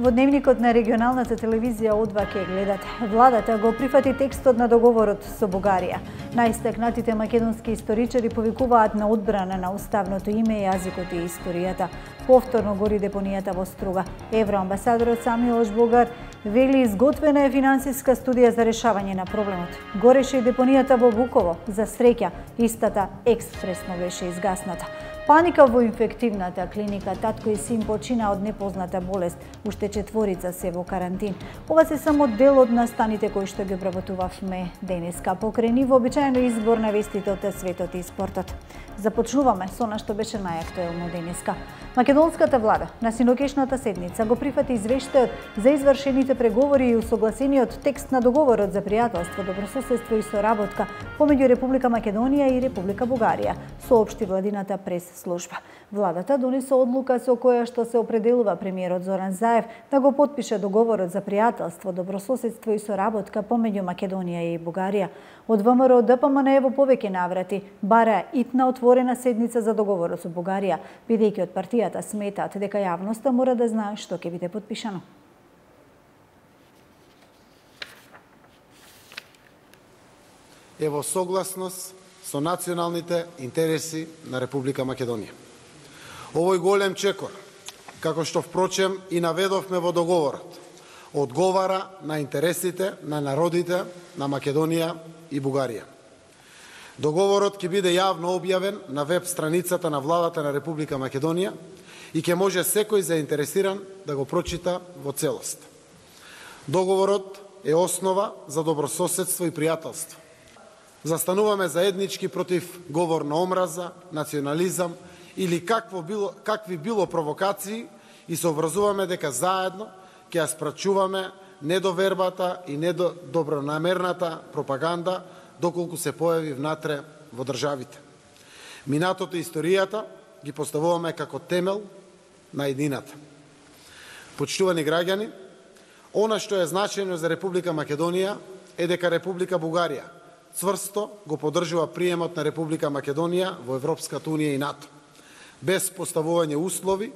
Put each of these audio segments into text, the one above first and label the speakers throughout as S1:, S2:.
S1: Во дневникот на регионалната телевизија О2 ке гледате. Владата го прифати текстот на договорот со Бугарија. Најстакнатите македонски историчари повикуваат на одбрана на уставното име, јазикот и историјата. Повторно гори депонијата во Струга. Евроамбасадорот Самиош Бугар вели изготвена е финансиска студија за решавање на проблемот. Гореше и депонијата во Буково. За среќа, истата експресно беше изгасната. Паника во инфективната клиника, татко и син почина од непозната болест, уште 4 се во карантин. Ова се само дел од настаните кои што ги обработувавме денеска. Покрај ниво обичаено избор на вестите од светот и спортот. Започнуваме со она што беше најактуелно денеска. Македонската влада на синокешната седница го прифати извештајот за извршените преговори и усогласениот текст на договорот за пријателство, добрососедство и соработка помеѓу Република Македонија и Република Бугарија, соопшти владината прес-служба. Владата донесе одлука со која што се определува премиерот Зоран Заев да го потпише договорот за пријателство, добрососедство и соработка помеѓу Македонија и Бугарија. Од ВМРО ДПМН во повеќе наврати бара итна отворена седница за договорот со Бугарија, бидејќи од партијата сметаат дека јавноста мора да знае што ќе биде потпишано.
S2: Е во согласност со националните интереси на Република Македонија. Овој голем чекор, како што впрочем и наведовме во договорот, одговара на интересите на народите на Македонија и Бугарија. Договорот ќе биде јавно објавен на веб страницата на владата на Република Македонија и ќе може секој заинтересиран да го прочита во целост. Договорот е основа за добрососедство и пријателство. Застануваме заеднички против говор на омраза, национализам или какви било провокации и се обврзуваме дека заедно ќе ја спрачуваме недовербата и недобронамерната пропаганда доколку се појави внатре во државите. Минатото и историјата ги поставуваме како темел на едината. Почитувани граѓани, она што е значајно за Република Македонија е дека Република Бугарија цврсто го поддржува приемот на Република Македонија во Европската Унија и НАТО, без поставување услови,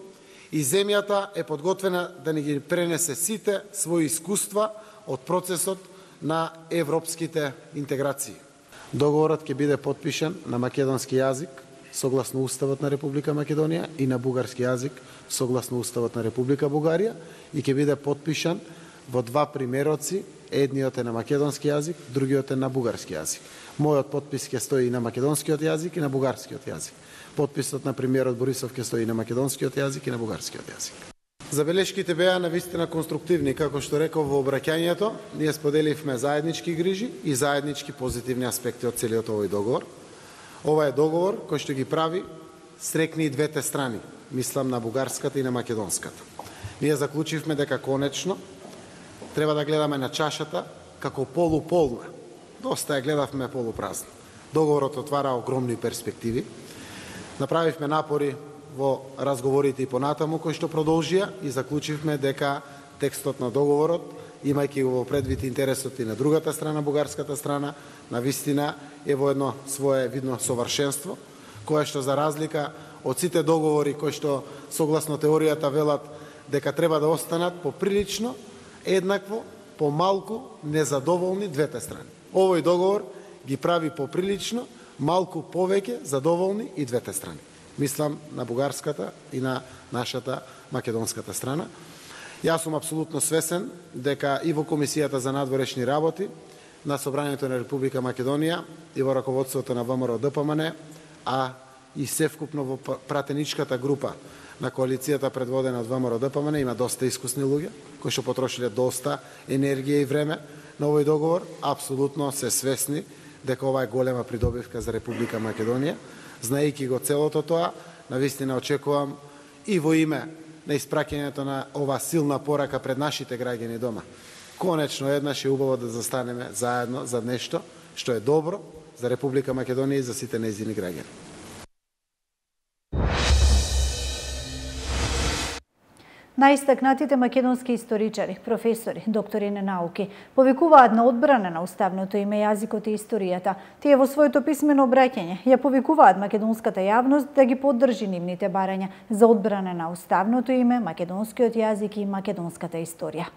S2: и земјата е подготвена да ни ги пренесе сите своји искуства од процесот на европските интеграции. Договорот ќе биде потпишан на македонски јазик согласно Уставот на Република Македонија и на бугарски јазик согласно Уставот на Република Бугарија и ќе биде потпишан во два примероци, едниот е на македонски јазик, другиот е на бугарски јазик. Мојот потпис ќе стои и на македонскиот јазик и на бугарскиот јазик. Потписот на премиерот Борисов ќе стои и на македонскиот јазик и на бугарскиот јазик. Забелешките беа навистина конструктивни, како што реков во обраќањето, ние споделивме заеднички грижи и заеднички позитивни аспекти од целиот овој договор. Ова е договор кој што ги прави срекни и двете страни, мислам на бугарската и на македонската. Ние заклучивме дека конечно треба да гледаме на чашата како полуполна. Доста ја гледавме полупразна. Договорот отвара огромни перспективи. Направивме напори во разговорите и понатаму кои што продолжија и заклучивме дека текстот на договорот, имајќи го во предвид интересот и на другата страна, бугарската страна, навистина е во едно свое видно совршенство, кое што за разлика од сите договори кои што согласно теоријата велат дека треба да останат поприлично еднакво, помалку незадоволни двете страни. Овој договор ги прави поприлично малку повеќе задоволни и двете страни. Мислам на бугарската и на нашата македонската страна. Јас сум апсолутно свесен дека и во Комисијата за надворешни работи на Собранието на Република Македонија и во раководството на ВМРО ДПМН, а и севкупно во пратеничката група на коалицијата предводена од ВМРО ДПМН има доста искусни луѓе кои што потрошиле доста енергија и време на овој договор. Апсолутно се свесни дека ова е голема придобивка за Република Македонија. Знаејќи го целото тоа, навистина очекувам и во име на испраќањето на ова силна порака пред нашите граѓани дома. Конечно еднаш е убаво да застанеме заедно за нешто што е добро за Република Македонија и за сите нејзини граѓани.
S1: Најистакнатите македонски историчари, професори, доктори на науки повикуваат на одбрана на уставното име, јазикот и историјата. Тие во своето писмено обраќање ја повикуваат македонската јавност да ги поддржи нивните барања за одбрана на уставното име, македонскиот јазик и македонската историја.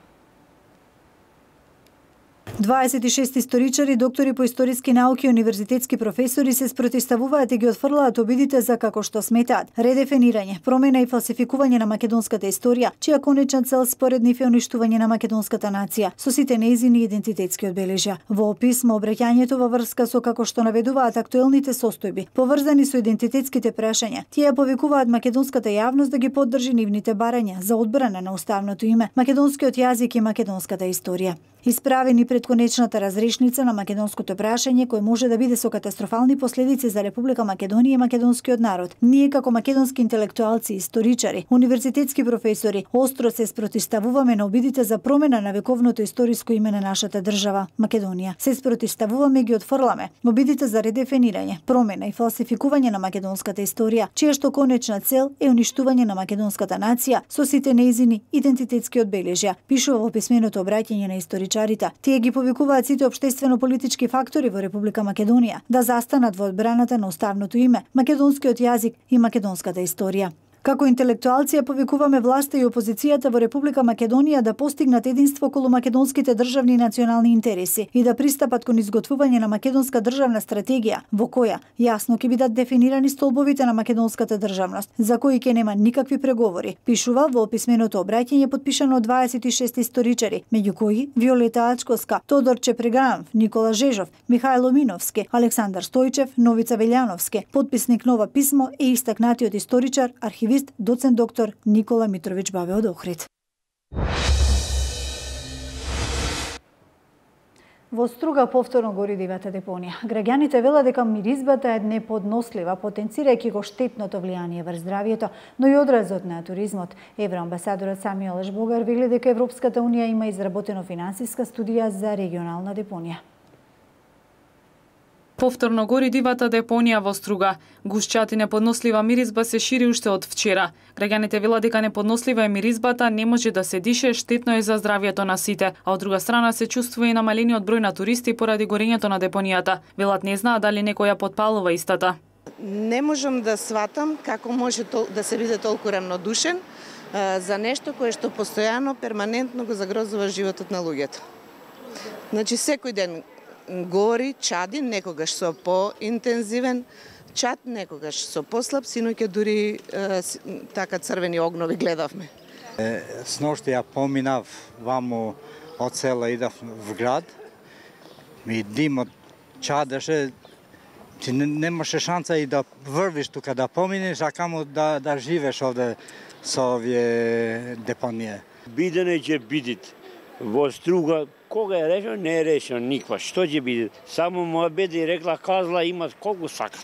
S1: 26 историчари, доктори по историски науки и универзитетски професори се спротивставуваат и ги отфрлаат обидите за, како што сметаат, редефинирање, промена и фалсификување на македонската историја, чија конечна цел според нив е уништување на македонската нација со сите нејзини идентитетски одбележја. Во писмо обраќањето во врска со, како што наведуваат, актуелните состојби поврзани со идентитетските прашања, тие повикуваат македонската јавност да ги поддржи нивните барања за одбрана на уставното име, македонскиот јазик и македонската историја. Исправени пред конечната разрешница на македонското прашање, кој може да биде со катастрофални последици за Република Македонија и македонскиот народ, ние како македонски интелектуалци, историчари, универзитетски професори, остро се спротивставуваме на обидите за промена на вековното историско име на нашата држава, Македонија. Се спротивставуваме и ги отфрламе обидите за редефинирање, промена и фалсификување на македонската историја, чија што конечна цел е уништување на македонската нација со сите нејзини идентитетски одбележја, пишува во писменото обраќање на историчарите. Тие ги повикуваат сите општествено-политички фактори во Република Македонија да застанат во одбраната на уставното име, македонскиот јазик и македонската историја. Како интелектуалци ја повикуваме власта и опозицијата во Република Македонија да постигнат единство околу македонските државни и национални интереси и да пристапат кон изготвување на македонска државна стратегија, во која јасно ќе бидат дефинирани столбовите на македонската државност, за кои ќе нема никакви преговори, пишува во писменото обраќање подпишано од 26 историчари, меѓу кои Виолета Ачковска, Тодор Чепреганов, Никола Жежов, Михајло Миновски, Александар Стојчев, Новица Велјановски. Подписник на ова писмо е истакнатиот историчар, архивист, доцент доктор Никола Митровиќ Бабе од Охрид. Во Струга повторно гори дивата депонија. Граѓаните велат дека миризбата е неподнослива, потенцирајќи го штетното влијание врз здравјето, но и одразот на туризмот. Евроамбасадорот Самиел Ешбогар вели дека Европската унија има изработено финансиска студија за регионална депонија.
S3: Повторно гори дивата депонија во Струга. Гушчат и неподнослива миризба се шири уште од вчера. Граѓаните велат дека неподнослива е миризбата, не може да се дише, штетно е за здравјето на сите, а од друга страна се чувствува и намалениот број на туристи поради горењето на депонијата. Велат не знаат дали некој ја потпалува истата.
S4: Не можам да сватам како може да се биде толку рамнодушен за нешто кое што постојано, перманентно го загрозува животот на луѓето. Значи секој ден гори, чади, некогаш со поинтензивен чад, некогаш со послаб, синоќа дури така црвени огнови гледавме.
S5: Сношти ја поминав ваму од села, идав в град, ми димот чадеше, ти немаше шанса и да врвиш тука, да поминеш, а камо да живееш овде со овие депонија.
S6: Бидене ќе бидит во Струга. Кога е решено, не е решено никва. Што ќе биде? Само моја беда рекла, казла, имат колку сакат.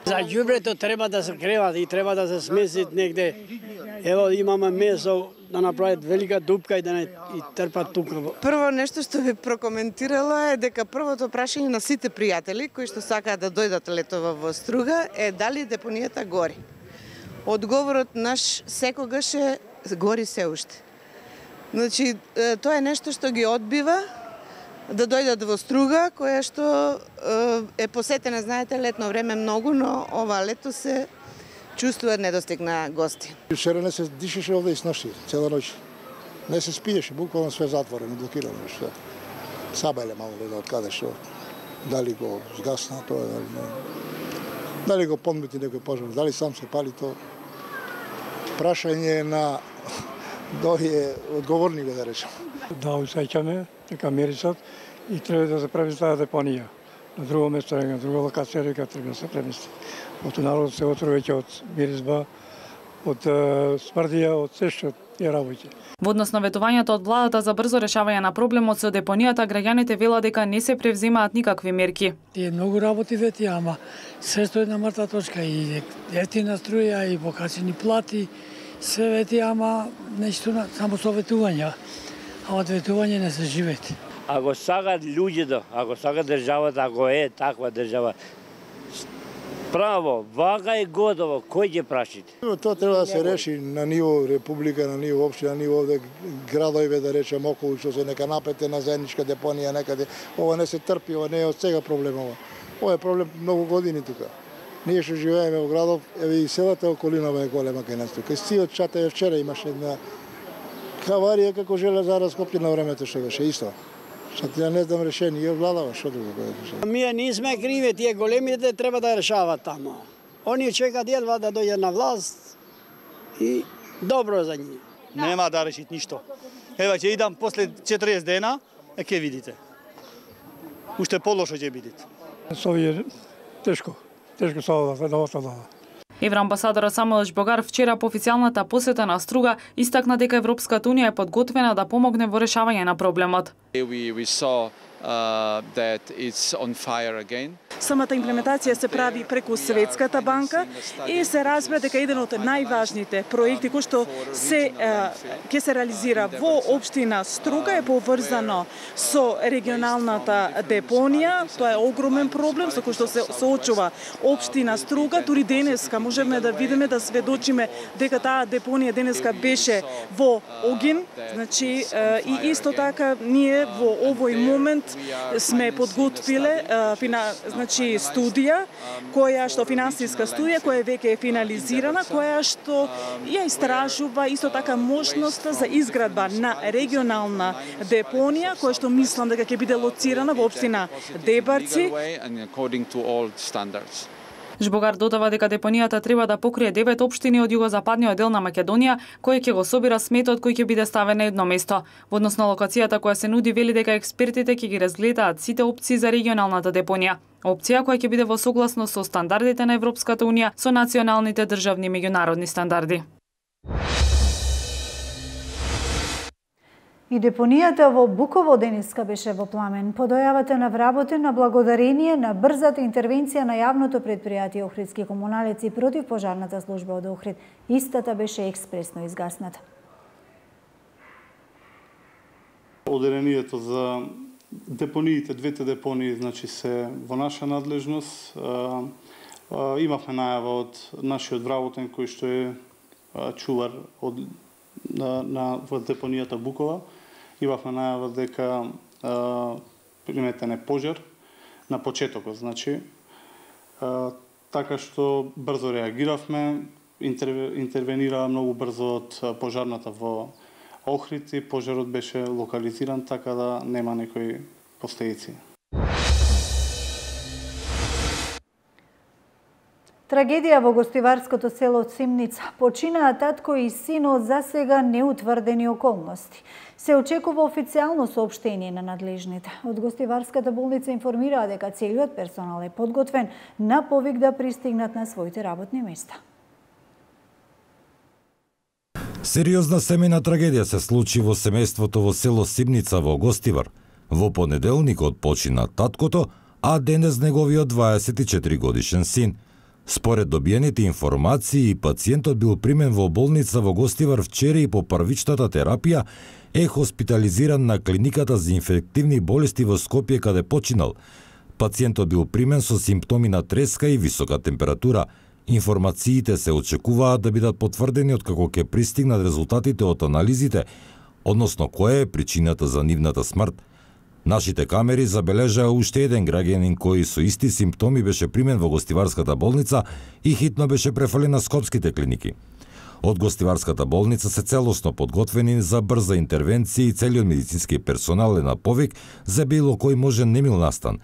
S7: За ѓубрето треба да се креват и треба да се смесит негде. Ево имаме месо да направат велика дупка и да не и трпат тука.
S4: Прво нешто што би прокоментирала е дека првото прашање на сите пријатели кои што сакаат да дојдат летова во Струга е дали депонијата гори. Одговорот наш секогаш е гори се уште. Значи, тоа е нешто што ги одбива да дојдат во Струга, која што е посетена, знаете, летно време многу, но ова лето се чувствува недостиг на гости.
S8: Вчера не се дишеше овде и сношти, цела ноќ. Не се спиеше, буквално све затворено, блокирано. Сабеле мало да од каде што, дали го згасна тоа, дали го подмети некој пожар, дали сам се пали тоа. Прашање на е одговорни да речем.
S9: Да усеќаме дека мирисот и треба да се прави таа депонија. На друго место, на друга локација, дека треба да се премести. Од народот се отрува веќе од миризба, од смрдија, од се што е работи.
S3: Во однос на ветувањето од владата за брзо решавање на проблемот со депонијата, граѓаните велат дека не се превземаат никакви мерки.
S7: Тие многу работи вети, ама се стои на мртва точка и ефтина струја и покачени плати. Се вети, ама нешто само со ветување, а од ветување не се живети.
S6: Ако сакат луѓето, ако сакат државата, ако е таква држава, Право, вага е годово, кој ќе прашите?
S8: Тоа треба да се реши на ниво република, на ниво општина, на ниво овде градови, да речем околу, што се нека напете на заедничка депонија некаде. Ова не се трпи, ова не е од сега проблем ова. Ова е проблем многу години тука. Ние што живееме во градов, еве и селата околинава е голема кај нас тука. Стиот Чатево вчера имаше една аварија како железара Скопје на времето што беше исто. Сад ја не знам решение, владава, што друго кој е.
S10: Ние не сме криви, тие големите треба да решават тамо. Они чекат едва да дојдат на власт и добро за нив.
S11: Нема да решит ништо. Ева ќе идам после 40 дена, ќе видите. Уште полошо ќе бидете.
S9: Со овие тешко со ова.
S3: Евроамбасадорот Самуел Жбогар вчера по официјалната посета на Струга истакна дека Европската унија е подготвена да помогне во решавање на проблемот.
S12: Самата имплементација се прави преку Светската банка и се разбира дека еден од најважните проекти кои што ќе се реализира во општина Струга е поврзано со регионалната депонија. Тоа е огромен проблем со кој што се соочува општина Струга. Дури денеска можеме да видиме, да сведочиме дека таа депонија денеска беше во огин. Значи и исто така ние во овој момент сме подготвиле студија која што финансиска студија која веќе е финализирана, која што ја истражува исто така можноста за изградба на регионална депонија која што мислам дека ќе биде лоцирана во општина Дебарци.
S3: Жбогар додава дека депонијата треба да покрие 9 општини од југозападниот дел на Македонија, кој ќе го собира сметот кој ќе биде ставен на едно место. Во однос на локацијата која се нуди, вели дека експертите ќе ги разгледаат сите опции за регионалната депонија. Опција која ќе биде во согласност со стандардите на Европската унија, со националните државни и меѓународни стандарди.
S1: И депонијата во Буково денеска беше во пламен. По дојавата на вработена благодарение на брзата интервенција на јавното предпријатие Охридски комуналец и против пожарната служба од Охрид, истата беше експресно изгасната.
S13: Одделението за депониите, двете депонии, значи се во наша надлежност. Имавме најава од нашиот вработен кој што е чувар во депонијата Букова. Имавме најава дека приметен е пожар на почетокот, значи. Така што брзо реагиравме, интервенираа многу брзо од пожарната во Охрид и пожарот беше локализиран така да нема некои последици.
S1: Трагедија во гостиварското село Симница. Починаа татко и син од засега неутврдени околности. Се очекува официјално соопштение на надлежните. Од гостиварската болница информираа дека целиот персонал е подготвен на повик да пристигнат на своите работни места.
S14: Сериозна семејна трагедија се случи во семејството во село Симница во Гостивар. Во понеделникот почина таткото, а денес неговиот 24 годишен син. Според добиените информации, пациентот бил примен во болница во Гостивар вчера и по првичната терапија е хоспитализиран на клиниката за инфективни болести во Скопје каде починал. Пациентот бил примен со симптоми на треска и висока температура. Информациите се очекуваат да бидат потврдени откако ќе пристигнат резултатите од анализите, односно која е причината за нивната смрт. Нашите камери забележаа уште еден граѓанин кој со исти симптоми беше примен во гостиварската болница и хитно беше префален на скопските клиники. Од гостиварската болница се целосно подготвени за брза интервенција и целиот медицински персонал е на повик за било кој можен немил настан.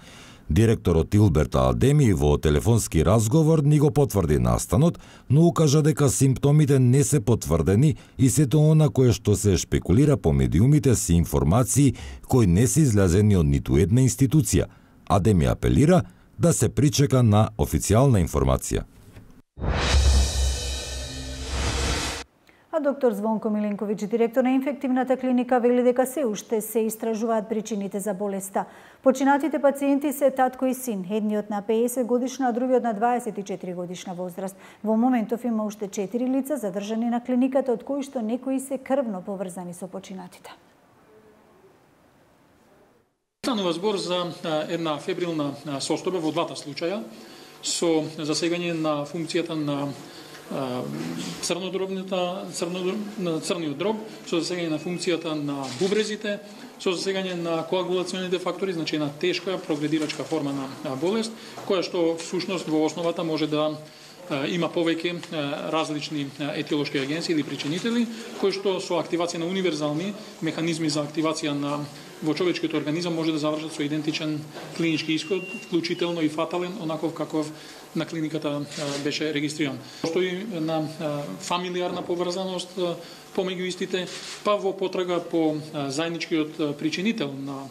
S14: Директорот Илберт Адеми во телефонски разговор ни го потврди настанот, но укажа дека симптомите не се потврдени и сето она кое што се шпекулира по медиумите се информации кои не се излезени од ниту една институција. Адеми апелира да се причека на официјална информација.
S1: А доктор Звонко Миленковиќ, директор на инфективната клиника, вели дека се уште се истражуваат причините за болеста. Починатите пациенти се татко и син, едниот на 50 годишна, а другиот на 24 годишна возраст. Во моментов има уште 4 лица задржани на клиниката, од кои што некои се крвно поврзани со починатите.
S15: Станува збор за една фебрилна состојба во двата случаја. со засегање на функцијата на црниот дроб, со засегање на функцијата на бубрезите, со засегање на коагулационите фактори, значи една тешка прогредирачка форма на болест, која што всушност во основата може да има повеќе различни етиолошки агенции или причинители, кои што со активација на универзални механизми за активација во човечкиот организам може да завршат со идентичен клинички исход, вклучително и фатален, онаков каков на клиниката беше регистриран. Постои на фамилиарна поврзаност помеѓу истите, па во потрага по заедничкиот причинител на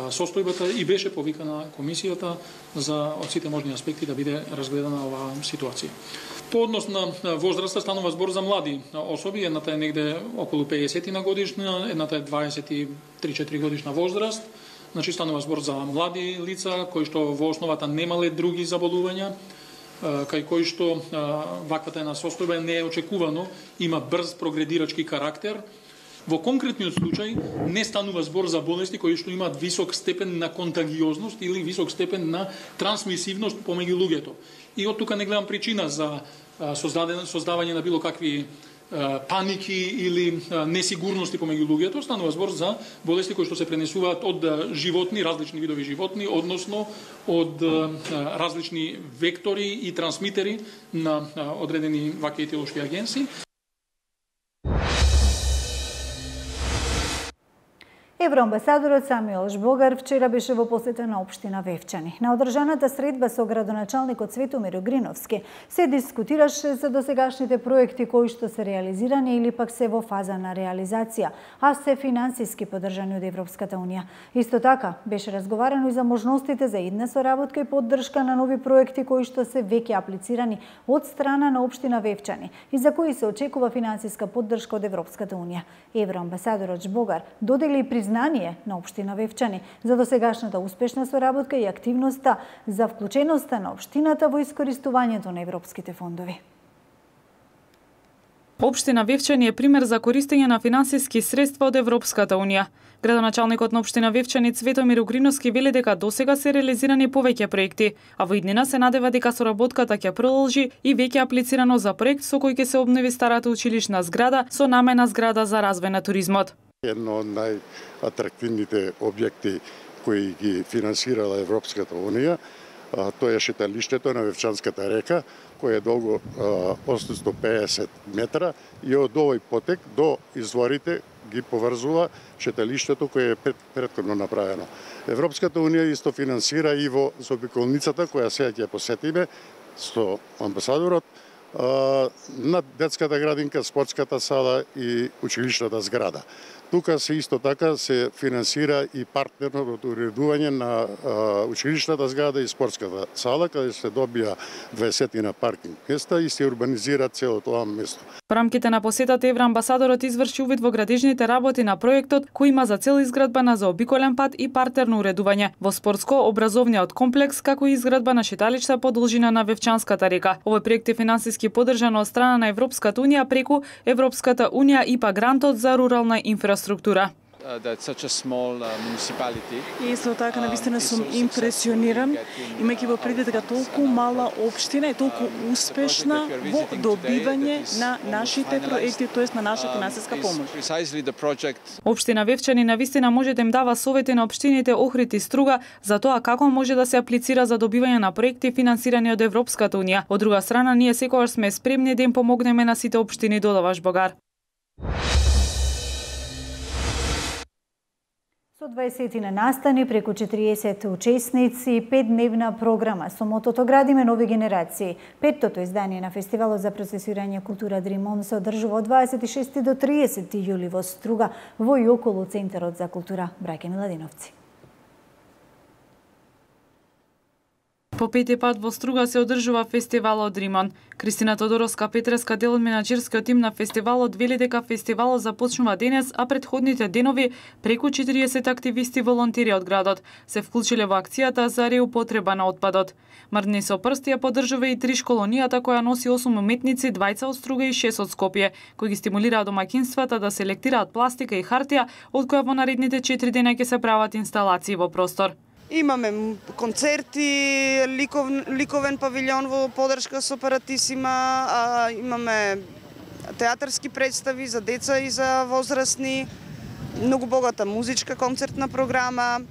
S15: состојбата и беше повикана комисијата за од сите можни аспекти да биде разгледана оваа ситуација. По однос на возраста станува збор за млади особи, едната е негде околу 50 годишна, едната е 23-4 годишна возраст. Значи станува збор за млади лица кои што во основата немале други заболувања, кај кои што ваквата една состојба не е очекувано, има брз прогредирачки карактер. Во конкретниот случај не станува збор за болести кои што имаат висок степен на контагиозност или висок степен на трансмисивност помеѓу луѓето. И од тука не гледам причина за создавање на било какви паники или несигурности помеѓу луѓето. Станува збор за болести кои што се пренесуваат од животни, различни видови животни, односно од различни вектори и трансмитери на одредени вакви етиолошки агенции.
S1: Евроамбасадорот Самуел Жбогар вчера беше во посета на општина Вевчани. На одржаната средба со градоначалникот Светомир Огриновски се дискутираше за досегашните проекти кои што се реализирани или пак се во фаза на реализација, а се финансиски поддржани од Европската унија. Исто така беше разговарано и за можностите за идна соработка и поддршка на нови проекти кои што се веќе аплицирани од страна на општина Вевчани и за кои се очекува финансиска поддршка од Европската унија. Евроамбасадорот Жбогар додели признание на општина Вевчани за досегашната успешна соработка и активноста за вклученоста на општината во искористувањето на европските фондови.
S3: Општина Вевчани е пример за користење на финансиски средства од Европската унија. Градоначалникот на општина Вевчани Светомир Огриновски вели дека досега се реализирани повеќе проекти, а во иднина се надева дека соработката ќе продолжи и веќе аплицирано за проект со кој ќе се обнови старата училишна зграда со намена зграда за развој на туризмот.
S16: Едно од најатрактивните објекти кои ги финансирала Европската унија, тоа е шеталиштето на Вевчанската река, кој е долго 850 метра и од овој потек до изворите ги поврзува шеталиштето кое е претходно направено. Европската унија исто финансира и во заобиколницата која сега ќе посетиме со амбасадорот на детската градинка, спортската сала и училишната зграда. Тука се исто така се финансира и партнерното уредување на училишната зграда и спортската сала, каде се добија 20 паркинг места и се урбанизира целото тоа место.
S3: Во рамките на посетата евроамбасадорот изврши увид во градежните работи на проектот кој има за цел изградба на заобиколен пат и партерно уредување во спортско-образовниот комплекс, како и изградба на шеталишта по должина на Вевчанската река. Овој проект е финансиски поддржан од страна на Европската унија преку Европската унија ИПА грантот за рурална инфраструктура.
S12: И исто така навистина сум импресиониран, имајќи во предвид дека толку мала општина е толку успешна во добивање на нашите проекти, тоест на наша финансиска помош.
S3: Општина Вевчани навистина може да им дава совети на општините Охрид и Струга за тоа како може да се аплицира за добивање на проекти финансирани од Европската унија. Од друга страна, ние секогаш сме спремни да им помогнеме на сите општини, додава Жбогар.
S1: Со 20 настани, преку 40 учесници и 5-дневна програма со мотото «Градиме нови генерации». Петтото издание на Фестивалот за процесирање култура Dream On се одржува од 26 до 30 јули во Струга, во и околу Центарот за култура Браќа Миладиновци.
S3: По пети пат во Струга се одржува фестивалот Dream On. Кристина Тодоровска Петреска, дел од менаџерскиот тим на фестивалот, вели дека фестивалот започнува денес, а предходните денови преку 40 активисти волонтери од градот се вклучиле во акцијата за реупотреба на отпадот. Мрдни со прсти ја поддржува и Тришколонијата, која носи 8 уметници, 2 од Струга и 6 од Скопје, кои ги стимулираат домаќинствата да селектираат пластика и хартија, од која во наредните 4 дена ќе се прават инсталации во простор.
S4: Имаме концерти, ликовен павилјон во подршка со Паратисима, имаме театарски представи за деца и за возрастни, многу богата музичка концертна програма,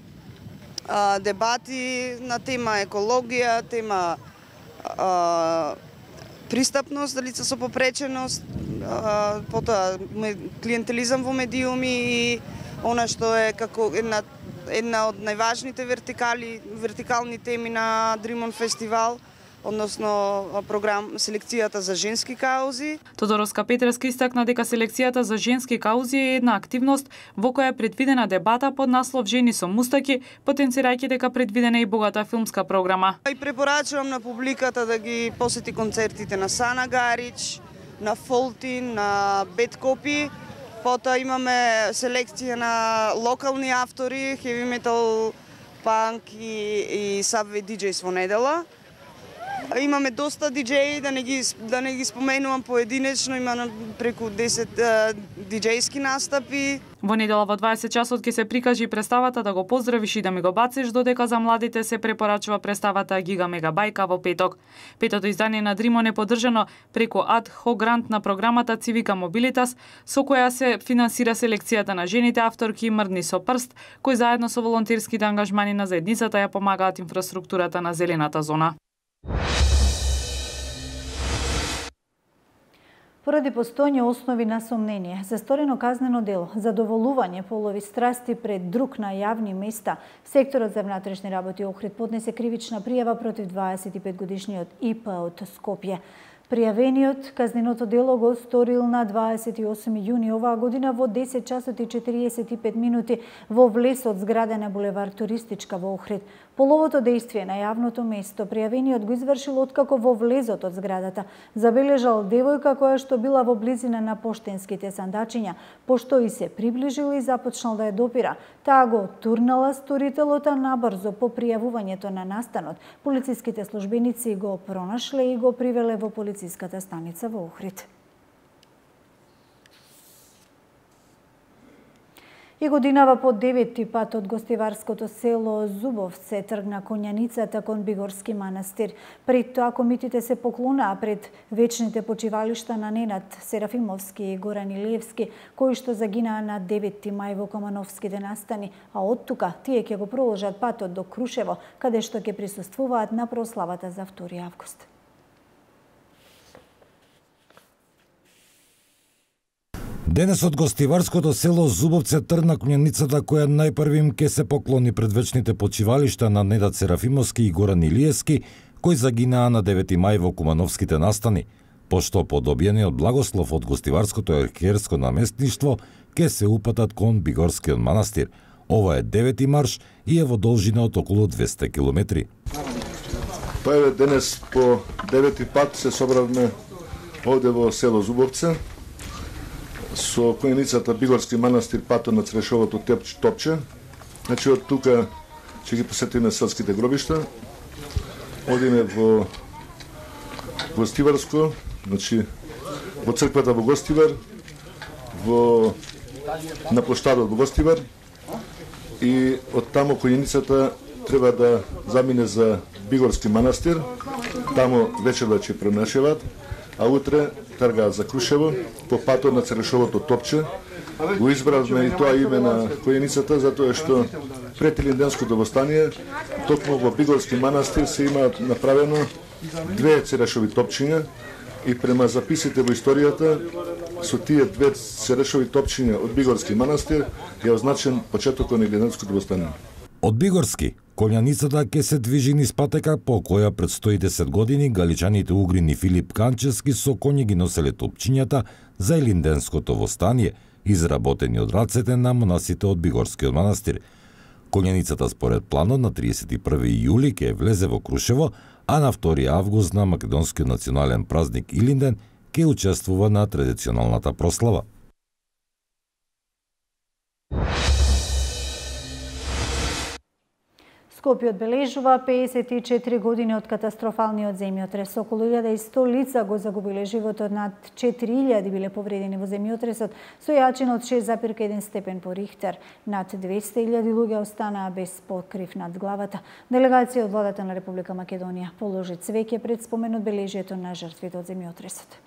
S4: дебати на тема екологија, тема пристапност за лица со попреченост, потоа клиентелизам во медиуми и она што е како една од најважните вертикални теми на Дримон фестивал, односно селекцијата за женски каузи.
S3: Тодороска Петреска истакна дека селекцијата за женски каузи е една активност во која е предвидена дебата под наслов Жени со мустаки, потенцирајќи дека предвидена и богата филмска програма.
S4: И препорачувам на публиката да ги посети концертите на Сана Гарич, на Фолтин, на Бет Копи. Потоа имаме селекција на локални автори, heavy metal, панк и сабвей диџејс во недела. Имаме доста диџеи, да не ги споменувам поединечно, има преку 10 диџејски настапи.
S3: Во недела во 20 часот ќе се прикажи представата Да го поздравиш и да ми го бациш, додека за младите се препорачува представата Гига Мега Бајка во петок. Петото издание на Дримон е поддржано преку ад хок грант на програмата Цивика Мобилитас, со која се финансира селекцијата на жените авторки Мрдни со прст, кои заедно со волонтерските ангажмани на заедницата ја помагаат инфраструктурата на зелената зона.
S1: Поради постојање основи на сомнение за сторено казнено дело, задоволување полови страсти пред друг на јавни места, секторот за внатрешни работи Охрид поднесе кривична пријава против 25-годишниот ИП од Скопје. Пријавениот казненото дело го сторил на 28 јуни оваа година во 10 часот и 45 минути во влесот зграда на булевар Туристичка во Охрид. Половото дејствие на јавното место пријавениот го извршил откако во влезот од зградата забележал девојка која што била во близина на поштенските сандачиња, пошто и се приближил и започнал да ја допира. Таа го турнала сторителот, а набрзо по пријавувањето на настанот, полициските службеници го пронашле и го привеле во полициската станица во Охрид. И годинава по 9-ти пат од гостиварското село Зубовце тргна конјаницата кон Бигорски манастир. Пред тоа комитите се поклонаа пред вечните почивалишта на Ненад Серафимовски и Горан Илиевски, кои што загинаа на 9 мај во Комановските настани, а од тука тие ќе го проложат патот до Крушево, каде што ќе присуствуваат на прославата за 2 август.
S14: Денес од гостиварското село Зубовце тргна конјаницата која најпрви им ке се поклони пред вечните почивалишта на Недат Серафимовски и Горан Илиевски, кои загинаа на 9 мај во Кумановските настани, пошто по добиениот благослов од гостиварското ерхиерско наместништво ке се упатат кон Бигорскиот манастир. Ова е 9 марш и е во должина од околу 200 километри.
S17: Па еве денес по 9 пат се собравме овде во село Зубовце со конјаницата Бигорски манастир патот на Црешовото топче. Значи од тука ќе ги посетиме селските гробишта. Одиме во Гостиварско, значи во црквата во Гостивар, на плоштадот во Гостивар и од таму конјаницата треба да замине за Бигорски манастир. Таму вечерва ќе пронашеват, а утре тргаат за Крушево по патот на Црешовото топче. Го избравме и тоа име на конјаницата затоа што пред Илинденското востание токму во Бигорски манастир се имаат направено 2 Црешови топчиња и према записите во историјата со тие 2 Црешови топчиња од Бигорски манастир е означен почетокот на Илинденското востание.
S14: Од Бигорски конјаницата ќе се движи низ патека по која пред 110 години галичаните Угрин и Филип Канчевски со коњи ги носеле топчињата за Илинденското востание, изработени од рацете на монасите од Бигорскиот манастир. Конјаницата според планот на 31 јули ќе влезе во Крушево, а на 2 август на македонскиот национален празник Илинден ќе учествува на традиционалната прослава.
S1: Скопје одбележува 54 години од катастрофалниот земјотрес. Околу 1100 лица го загубиле животот, над 4000 биле повредени во земјотресот со јачина од 6,1 степен по Рихтер. Над 200.000 луѓе останаа без покрив над главата. Делегација од владата на Република Македонија положи цвеќе пред спомен одбележието на жртвите од земјотресот.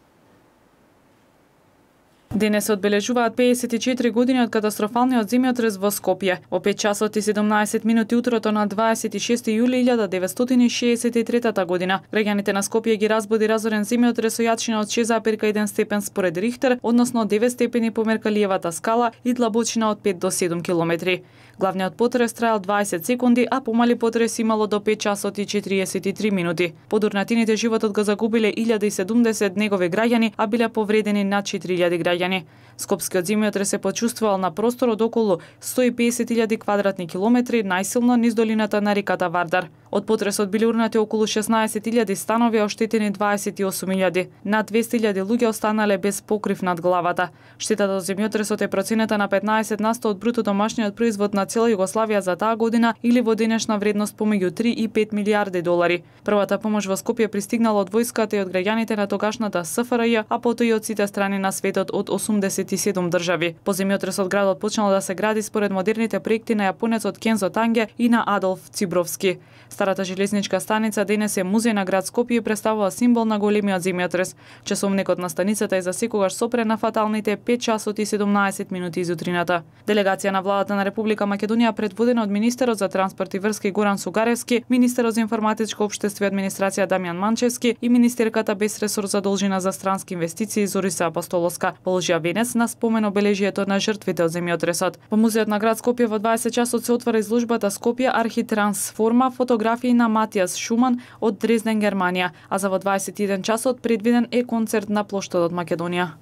S3: Денес се одбележуваат 54 години од катастрофалниот земјотрес во Скопје. Во 5 часот и 17 минути утрото на 26 јули 1963 година, граѓаните на Скопје ги разбуди разорен земјотрес со јачина од 6,1 степен според Рихтер, односно 9 степени по Меркалиевата скала и длабочина од 5 до 7 километри. Главниот потрес траел 20 секунди, а помали потрес имало до 5 часот и 43 минути. Под урнатините животот го загубиле 1070 негови граѓани, а биле повредени над 4000 граѓани. Скопскиот земјотрес се почувствувал на простор од околу 150.000 квадратни километри, најсилно низ долината на реката Вардар. Од потресот били урнати околу 16.000 станови, оштетени 28.000. Над 200.000 луѓе останале без покрив над главата. Штетата од земјотресот е проценета на 15% од бруто домашниот производ на цела Југославија за таа година или во денешна вредност помеѓу 3 и 5 милиарди долари. Првата помош во Скопје пристигнала од војската и од граѓаните на тогашната СФРЈ, а потоа и од сите страни на светот од 87 држави. По земјотресот градот почнал да се гради според модерните проекти на јапонецот Кензо Танге и на Адолф Цибровски. Старата железничка станица денес е музеј на град Скопје и представува символ на големиот земјотрес. Часовникот на станицата е за секогаш сопре на фаталните 5 часот и 17 минути изутрината. Делегација на владата на Република Македонија предводена од министерот за транспорт и врски Горан Сугаревски, министерот за информатичко општество и администрација Дамјан Манчевски и министерката без ресор задолжена за странски инвестиции Зориса Апостоловска положија венец на спомен обележието на жртвите од земјотресот. Во музеот на град Скопје во 20 часот се отвора изложбата Скопје архитрансформа, фотографии на Матијас Шуман од Дрезден, Германија, а за во 21 часот предвиден е концерт на плоштадот Македонија.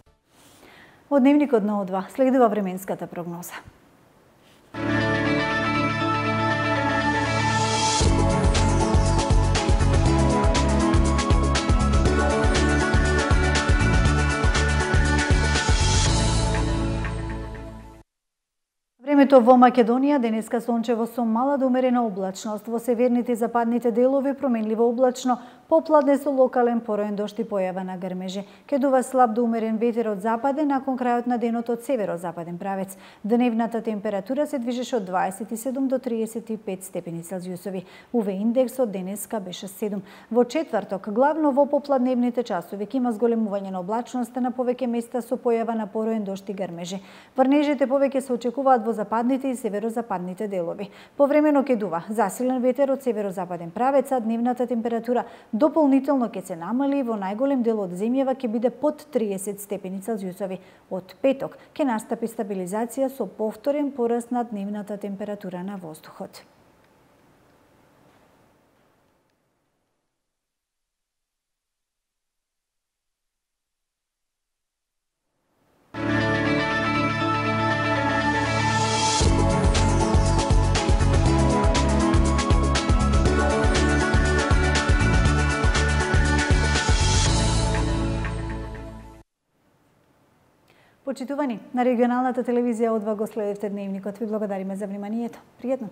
S1: Од дневникот на О2 следува временската прогноза. Времето во Македонија денеска сончево со мала до умерена облачност, во северните и западните делови променливо облачно, попладне со локален пороен дожд и појава на грмежи. Ке дува слаб до умерен ветер од западен, након крајот на денот од северозападен правец. Дневната температура се движеше од 27 до 35 степени Целзиусови. УВ индексот денеска беше 7. Во четврток, главно во попладневните часови, ќе има зголемување на облачноста на повеќе места со појава на пороен дожд и грмежи. Врнежите повеќе се очекуваат во западните и северозападните делови. Повремено ќе дува засилен ветер од северозападен правец, а дневната температура дополнително ќе се намали, во најголем дел од земјава ќе биде под 30 степени Целзиусови. Од петок ќе настапи стабилизација со повторен пораст на дневната температура на воздухот. Почитувани, на регионалната телевизија О2 го следевте дневникот. Ви благодариме за вниманието. Пријатно!